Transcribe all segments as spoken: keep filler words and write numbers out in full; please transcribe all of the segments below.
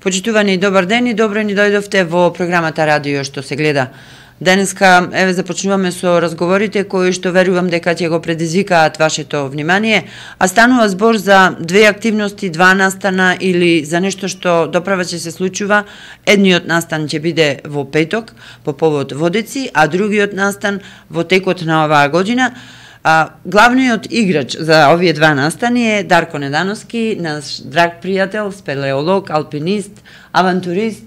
Почитувани, добар ден и добро ни дојдовте во програмата Радио што се гледа. Денеска, еве, започнуваме со разговорите кои што верувам дека ќе го предизвикаат вашето внимание, а станува збор за две активности, два настана или за нешто што доправа ќе се случува. Едниот настан ќе биде во петок по повод Водици, а другиот настан во текот на оваа година. А, главниот играч за овие два настани е Дарко Недановски, наш драг пријател, спелеолог, алпинист, авантурист,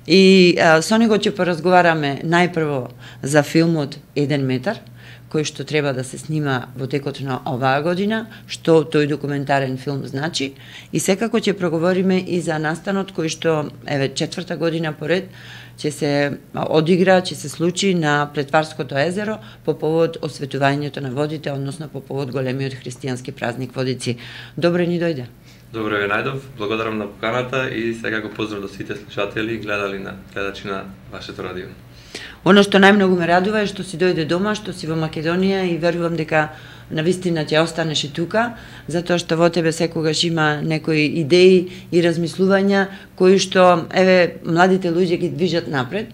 и а, со него ќе поразговараме најпрво за филмот Еден метар, кој што треба да се снима во текот на оваа година, што тој документарен филм значи, и секако ќе проговориме и за настанот кој што, еве, четврта година поред ќе се одигра, ќе се случи на Претварското езеро по повод осветувањето на водите, односно по повод големиот христијански празник Водици. Добре ни дојде. Добре ви најдов, благодарам на поканата и сега го поздрав до сите слушатели и гледали на гледачи на вашето радио. Оно што најмногу ме радува е што си дојде дома, што си во Македонија, и верувам дека навистина ќе останеш и тука, затоа што во тебе секогаш има некои идеи и размислувања кои што, еве, младите луѓе ги движат напред.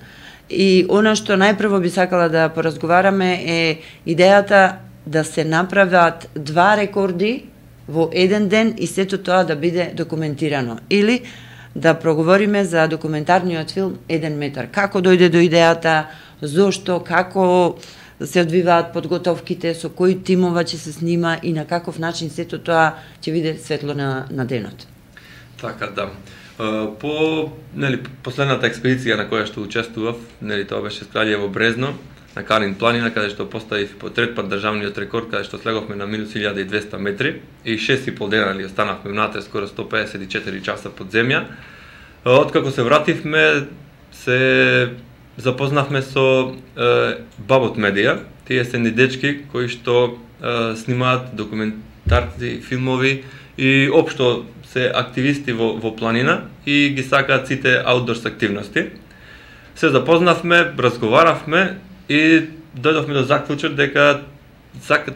И она што најпрво би сакала да поразговараме е идејата да се направат два рекорди во еден ден и сето тоа да биде документирано. Или да проговориме за документарниот филм Еден метар. Како дојде до идејата, зошто, како се одвиваат подготовките, со кои тимова ќе се снима и на каков начин сето тоа ќе биде светло на, на денот. Така, да. По, нели, последната експедиција на која што учествував, нели, тоа беше Кралјево Брезно, на Калин планина, каде што поставив по трет пат државниот рекорд, каде што слеговме на минус илјада и двесте метри и шест и пол дена ли останавме внатре, скоро сто педесет и четири часа под земја. Откако се вративме, се запознавме со е, Бабот Медија. Тие се ни дечки кои што е, снимаат документарни филмови и општо се активисти во, во планина и ги сакаат сите аутдорс активности. Се запознавме, разговаравме и дојдовме до заклучок дека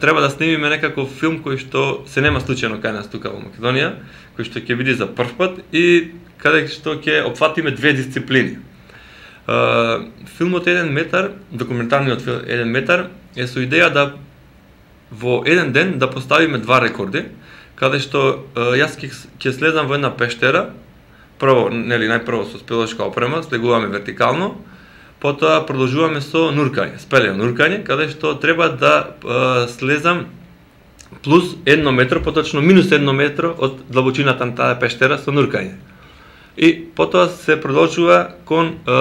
треба да снимиме некаков филм кој што се нема случајно кај нас тука во Македонија, кој што ќе биде за прв пат и каде што ќе опфатиме две дисциплини. Uh, филмот Еден метар, документарниот филм Еден метар е со идеја да во еден ден да поставиме два рекорди, каде што uh, јас ќе слезам во една пештера, прво, нели, најпрво со спелешка опрема, слегуваме вертикално, потоа продолжуваме со нуркање, спелено нуркање, каде што треба да uh, слезам плюс едно метро, поточно минус едно метро од длабочината на таа пештера со нуркање. И потоа се продолжува кон е,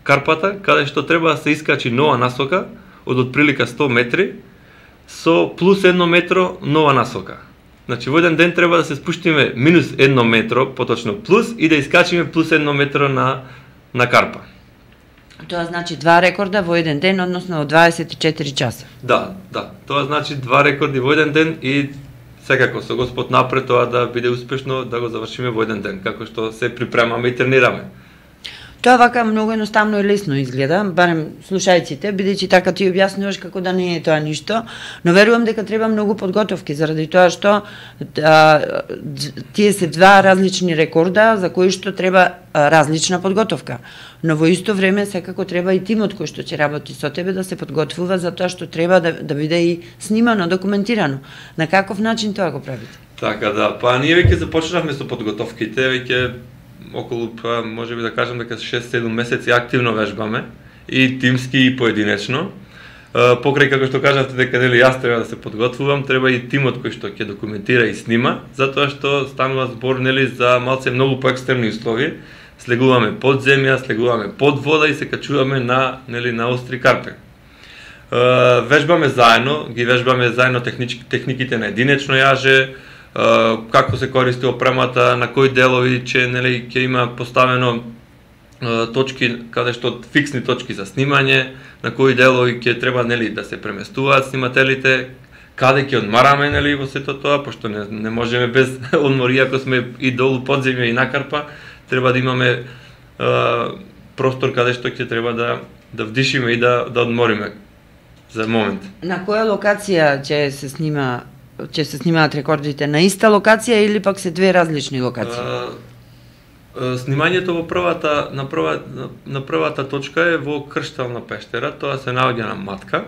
карпата, каде што треба да се искачи нова насока од отприлика сто метри со плюс едно метро нова насока. Значи во еден ден треба да се спуштиме минус едно метро, поточно плюс, и да искачиме плюс едно метро на, на карпа. Тоа значи два рекорда во еден ден, односно во дваесет и четири часа. Да, да. Тоа значи два рекорди во еден ден и секако со Господ напред тоа да биде успешно да го завршиме во еден ден, како што се припремаме и тренираме. Тоа вака многу едноставно и лесно изгледа, барем слушајците, бидејќи така ти објаснуваш како да не е тоа ништо, но верувам дека треба многу подготовки, заради тоа што а, тие се два различни рекорда за кои што треба а, различна подготовка. Но во исто време секако треба и тимот кој што ќе работи со тебе да се подготвува за тоа што треба да, да биде и снимано, документирано. На каков начин тоа го правите? Така, да, па ние веќе започнавме со подготовките, веќе околу, па, може би да кажам дека шест-седум месеци активно вежбаме, и тимски и поединечно. Покрај како што кажавте дека нели јас треба да се подготвувам, треба и тимот кој што ќе документира и снима, затоа што станува збор нели за малце многу поекстремни услови. Слегуваме под земја, слегуваме под вода и се качуваме на нели на остри карпе. Вежбаме заедно, ги вежбаме заедно технички, техниките на единечно јаже, како се користи опремата, на кои делови че нели ќе има поставено точки каде што фиксни точки за снимање, на кои делови ќе треба нели да се преместуваат снимателите, каде ќе одмараме нели во сето тоа, пошто не, не можеме без одмори ако сме и долу под земја и на карпа, треба да имаме е, простор каде што ќе треба да да вдишиме и да да одмориме за момент. На која локација ќе се снима ќе се снимаат рекордите, на иста локација или пак се две различни локации? Снимањето во првата на прва на првата точка е во Крштална пештера, тоа се наоѓа на Матка.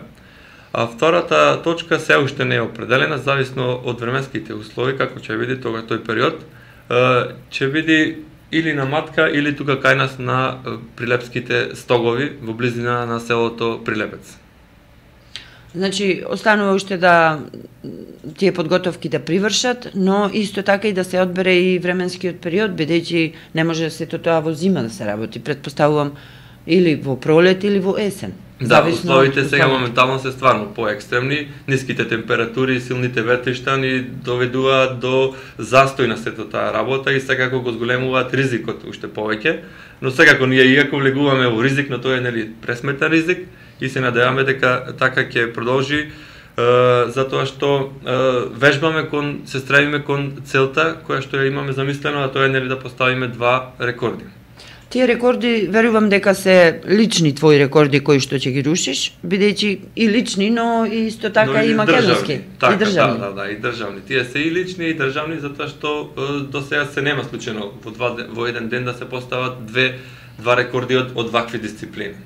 А втората точка се уште не е определена, зависно од временските услови, како ќе види тога тој период, ќе види или на Матка или тука кај нас на Прилепските стогови во близина на селото Прилепец. Значи, останува уште да тие подготовки да привршат, но исто така и да се одбере и временскиот период, бидејќи не може сето тоа во зима да се работи. Предпоставувам или во пролет или во есен. Да, условите сега моментално се стварно поекстремни, ниските температури, силните ветришта ни доведуваат до застој на сето таа работа и секако го зголемуваат ризикот уште повеќе, но секако ние иако влегуваме во ризик, но тоа е нели пресметен ризик и се надеваме дека така ќе продолжи, е, затоа што е, вежбаме кон, се стремиме кон целта која што ја имаме замислено, а тоа е нели да поставиме два рекорди. Тие рекорди, верувам дека се лични твои рекорди кои што ќе ги рушиш, бидејќи и лични, но и исто така и, и македонски, така, и државни. Да, да, да, и државни. Тие се и лични и државни затоа што до сега се нема случајно во два во еден ден да се постават две два рекорди од, од вакви дисциплини.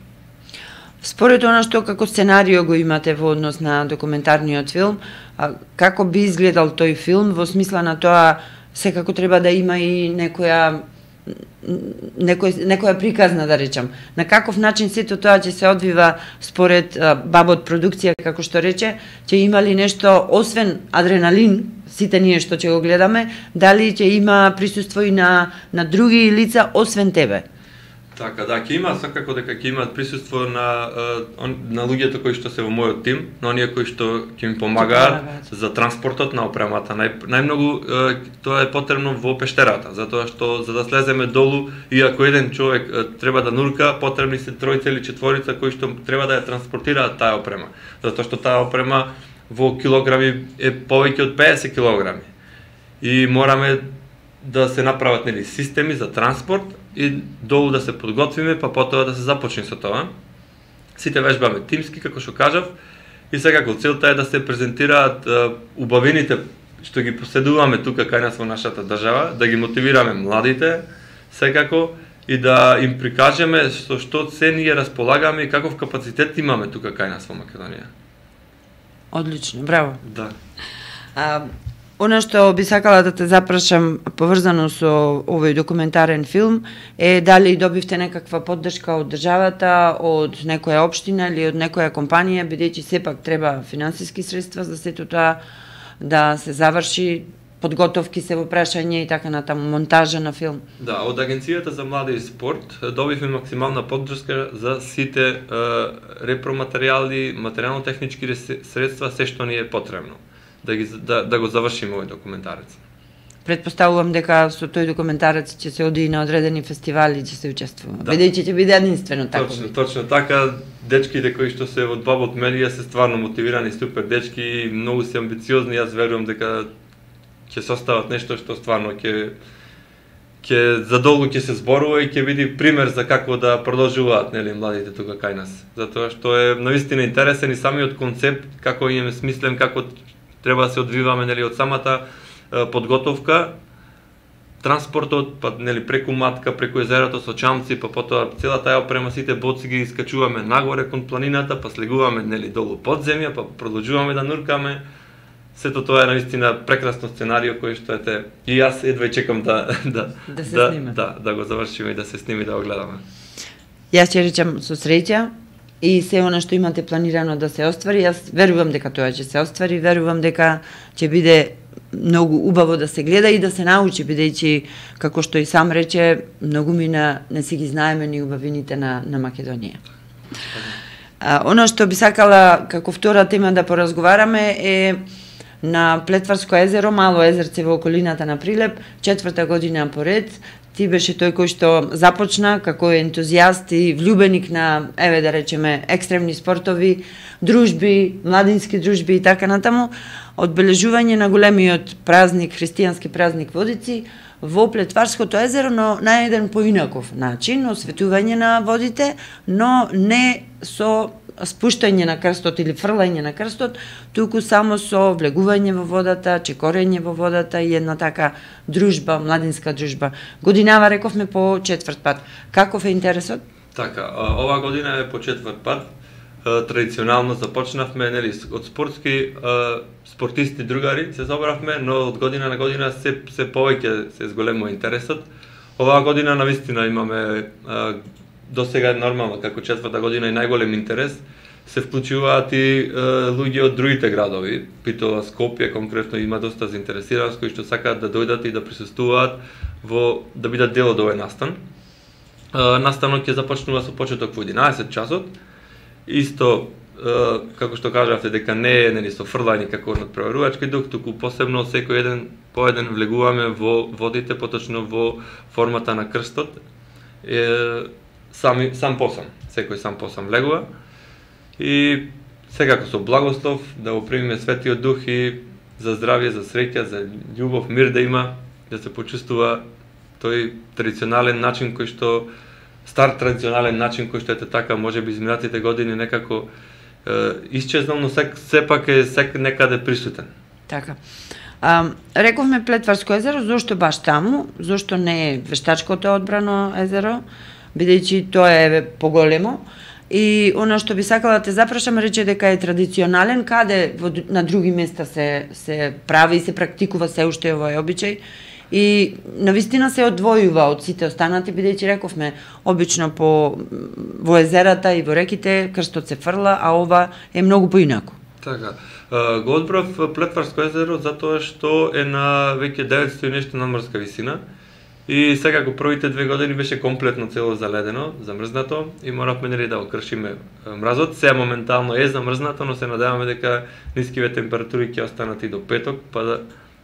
Според она што како сценарио го имате во однос на документарниот филм, а, како би изгледал тој филм во смисла на тоа секако треба да има и некоја некој, некоја приказна, да речам. На каков начин сето тоа ќе се одвива според а, Бабот продукција, како што рече, ќе има ли нешто освен адреналин, сите ние што ќе го гледаме, дали ќе има присуство и на, на други лица освен тебе? Така, да, ќе има секако дека ќе имаат присуство на на луѓето кои што се во мојот тим, на оние кои што ќе ми помагаат за транспортот на опремата. Нај, најмногу тоа е потребно во пештерата, затоа што за да слеземе долу, и ако еден човек треба да нурка, потребни се тројца или четворица кои што треба да ја транспортираат таа опрема, затоа што таа опрема во килограми е повеќе од педесет килограми. И мораме да се направат нели системи за транспорт и долу да се подготвиме, па потоа да се започне со тоа. Сите вежбаме тимски, како што кажав, и секако целта е да се презентираат uh, убавините што ги поседуваме тука кај нас во нашата држава, да ги мотивираме младите, секако, и да им прикажеме со што се ние располагаме и каков капацитет имаме тука кај нас во Македонија. Одлично, браво. Да. А, Она што би сакала да те запрашам поврзано со овој документарен филм е дали добивте некаква поддршка од државата, од некоја општина или од некоја компанија, бидејќи сепак треба финансиски средства за сето тоа да се заврши, подготовки се во прашање и така натаму, монтажа на филм. Да, од Агенцијата за млади и спорт добивме максимална поддршка за сите е, репроматеријали, материјално-технички средства, се што ни е потребно да ги да, да го завршиме овој документарец. Предпоставувам дека со тој документарец ќе се оди и на одредени фестивали и ќе се учествува. Да. Бидејќи ќе биде единствено така. Точно, точно така. Дечките кои што се од Бабот медија се стварно мотивирани, супер дечки, многу се амбициозни, јас верувам дека ќе состават нешто што стварно ќе ќе задолго ќе се зборува и ќе види пример за како да продолжуваат нели младите тука кај нас. Затоа што е навистина интересен и самиот концепт како им смислен, како треба да се одвиваме нели од самата е, подготовка, транспортот, па нели преку Матка, преку езерото со чамци, па потоа цела таа опрема, сите боци ги искачуваме нагоре кон планината, па слегуваме нели долу под земја, па продолжуваме да нуркаме. Сето тоа е навистина прекрасно сценарио кој што ете и јас едва чекам да да да се да, снима. Да, да го завршиме и да се сними да го гледаме. Јас ќе речам со среќа и се она што имате планирано да се оствари, јас верувам дека тоа ќе се оствари, верувам дека ќе биде многу убаво да се гледа и да се научи, бидејќи, како што и сам рече, многу мина не си ги знаеме ни убавините на, на Македонија. А, она што би сакала како втора тема да поразговараме е на Плетварско езеро, мало езерце во околината на Прилеп, четврта година поред. Ти беше тој кој што започна како ентузијаст и влюбеник на, еве да речеме, екстремни спортови, дружби, младински дружби и така натаму, одбележување на големиот празник, христијански празник Водици во Плетварското езеро, но на еден поинаков начин, осветување на водите, но не со спуштање на крстот или фрлање на крстот, туку само со влегување во водата, чекорење во водата и една така дружба, младинска дружба. Годинава рековме по четврт пат. Каков е интересот? Така, оваа година е по четврт пат. Традиционално започнавме, нели, од спортски спортисти другари се собравме, но од година на година се се повеќе се зголемува интересот. Оваа година навистина имаме досега нормално како четврта година и најголем интерес. Се вклучуваат и луѓе од другите градови. Битола, Скопје конкретно има доста заинтересирани кои што сакаат да дојдат и да присуствуваат во да бидат дел од овој настан. Настанот ќе започнува со почеток во единаесет часот. Исто, како што кажавте, дека не е, нели, со фрлање како на преварувачки дух, туку посебно секој еден по еден влегуваме во водите, поточно во формата на крстот, е, сами, сам посам, секој сам посам влегува. И секако со благослов да го примиме Светиот Дух и за здравје, за среќа, за љубов, мир да има, да се почувствува тој традиционален начин кој што стар традиционален начин кој што ете така можеби изминатите години некако е, исчезнал, но сек, сепак е сек некаде присутен. Така. А, рековме Плетварско езеро, зошто баш таму? Зошто не е Вештачкото одбрано езеро, бидејќи тоа е поголемо? И она што би сакала да те запрашам, рече дека е традиционален, каде во, на други места се се прави и се практикува се уште овој обичај? И навистина се одвојува од сите останати, бидејќи рековме, обично по во езерата и во реките крстот се фрла, а ова е многу поинаку. Така. Го одбрав Плетварско езеро затоа што е на веќе деветстотини и нешто надморска висина и секако првите две години беше комплетно цело заледено, замрзнато и моравме, нели, да го кршиме мразот. Сега моментално е замрзнато, но се надеваме дека нискиве температури ќе останат и до петок, па да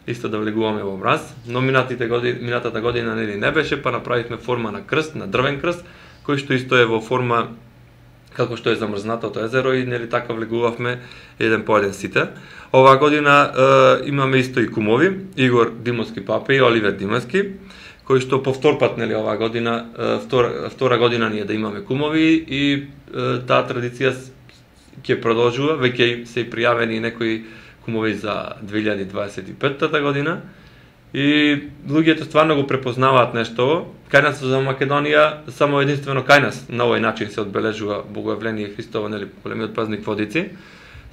исто да влегуваме во мраз. Но минатите години, минатата година, нели, не беше, па направивме форма на крст, на дрвен крст, кој што исто е во форма како што е замрзнатото езеро и, нели, така влегувавме еден по еден сите. Оваа година е, имаме исто и кумови, Игор Димовски папе и Оливер Димовски, кои што по втор пат, нели, оваа година, е, втора, втора година ние да имаме кумови и е, таа традиција ќе продолжува, веќе се и пријавени некои кумови за две илјади дваесет и петта година и луѓето стварно го препознаваат нешто. Кај нас за Македонија само единствено кај нас на овој начин се одбележува Богојавление Христово, нели, големиот празник Водици.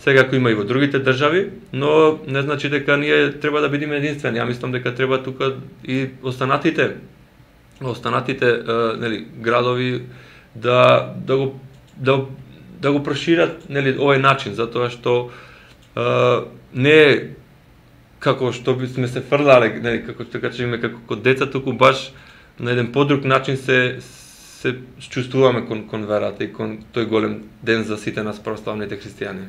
Секако има и во другите држави, но не значи дека ние треба да бидеме единствени. Ја мислам дека треба тука и останатите останатите нели, градови да да го да да го прошират, нели, овој начин, затоа што Uh, не е како што би сме се фрлале, нели, како што кажеме, како код деца, туку баш на еден подруг начин се се чувствуваме кон кон верата и кон тој голем ден за сите нас православните христијани.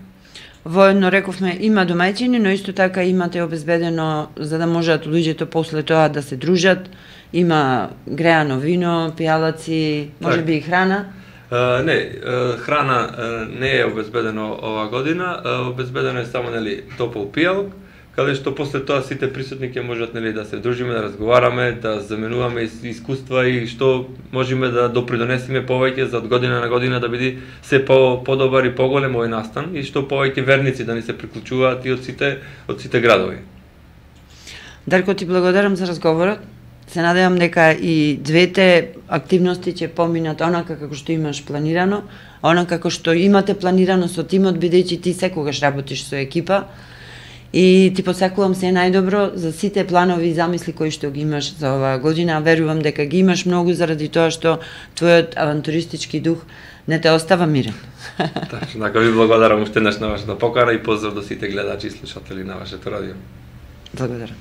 Воедно рековме има домаќини, но исто така имате обезбедено за да можат луѓето после тоа да се дружат, има греано вино, пијалаци, можеби и храна. Uh, не, uh, храна uh, не е обезбедено оваа година, uh, обезбедено е само, нели, топол пијалок, каде што после тоа сите присутни ќе можат, нели, да се дружиме, да разговараме, да заменуваме искуства и што можеме да допридонесеме повеќе за од година на година да биде се по подобар и поголем овој настан и што повеќе верници да ни се приклучуваат и од сите од сите градови. Дарко, ти благодарам за разговорот. Се надевам дека и двете активности ќе поминат онака како што имаш планирано, онака како што имате планирано со тимот, бидејќи ти секогаш работиш со екипа. И ти посакувам се најдобро за сите планови и замисли кои што ги имаш за оваа година. Верувам дека ги имаш многу заради тоа што твојот авантуристички дух не те остава мирен. Така, ви благодарам уште еднаш на вашата покана и поздрав до сите гледачи и слушатели на вашето радио. Благодарам.